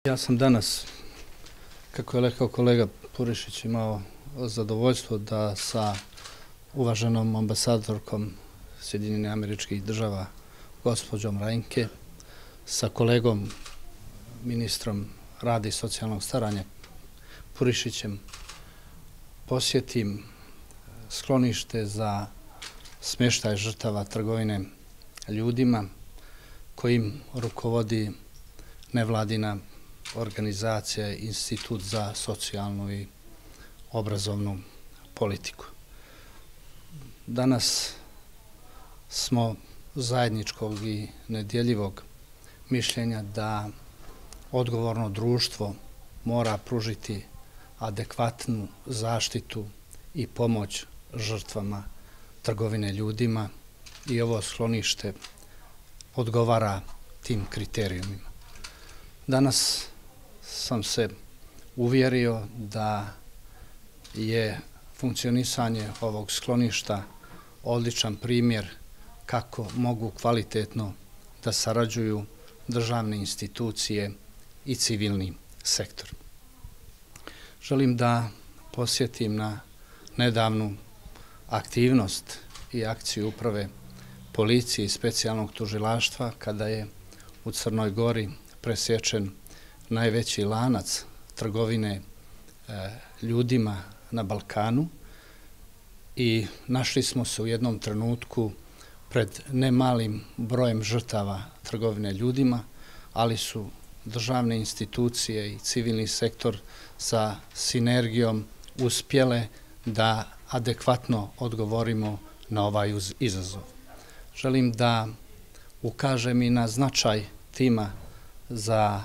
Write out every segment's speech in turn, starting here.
Ja sam danas, kako je rekao kolega Purišić, imao zadovoljstvo da sa uvaženom ambasadorkom Sjedinjenih Američkih Država, gospođom Reinke, sa kolegom ministrom rada i socijalnog staranja Purišićem posjetim sklonište za smještaj žrtava trgovine ljudima kojim rukovodi nevladina organizacija Institut za socijalnu i obrazovnu politiku. Danas smo zajedničkog i nedjeljivog mišljenja da odgovorno društvo mora pružiti adekvatnu zaštitu i pomoć žrtvama trgovine ljudima i ovo sklonište odgovara tim kriterijumima. Danas sam se uvjerio da je funkcionisanje ovog skloništa odličan primjer kako mogu kvalitetno da sarađuju državne institucije i civilni sektor. Želim da podsjetim na nedavnu aktivnost i akciju uprave policije i specijalnog tužilaštva kada je u Crnoj Gori presječen najveći lanac trgovine ljudima na Balkanu i našli smo se u jednom trenutku pred nemalim brojem žrtava trgovine ljudima, ali su državne institucije i civilni sektor sa sinergijom uspjele da adekvatno odgovorimo na ovaj izazov. Želim da ukažem i na značaj tima za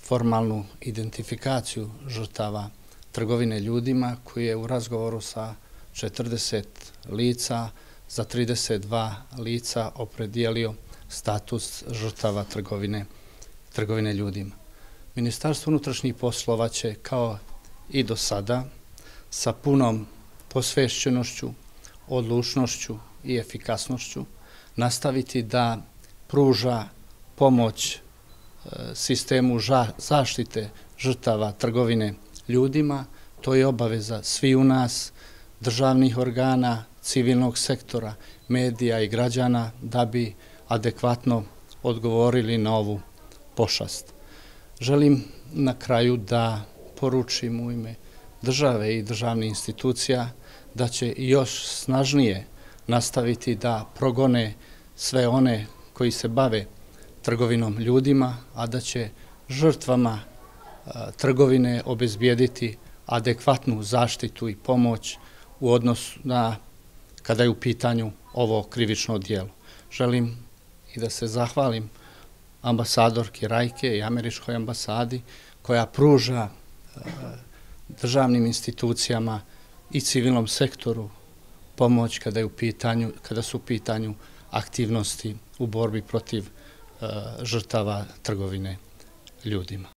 formalnu identifikaciju žrtava trgovine ljudima koji je u razgovoru sa 40 lica za 32 lica opredijelio status žrtava trgovine ljudima. Ministarstvo unutrašnjih poslova će kao i do sada sa punom posvešćenošću, odlučnošću i efikasnošću nastaviti da pruža pomoć sistemu zaštite žrtava trgovine ljudima. To je obaveza svi u nas, državnih organa, civilnog sektora, medija i građana da bi adekvatno odgovorili na ovu pošast. Želim na kraju da poručim u ime države i državnih institucija da će još snažnije nastaviti da progone sve one koji se bave trgovinom ljudima, a da će žrtvama trgovine obezbijediti adekvatnu zaštitu i pomoć u odnosu na kada je u pitanju ovo krivično djelo. Želim i da se zahvalim ambasadorki Rajke i američkoj ambasadi koja pruža državnim institucijama i civilnom sektoru pomoć kada su u pitanju aktivnosti u borbi protiv žrtava trgovine ljudima.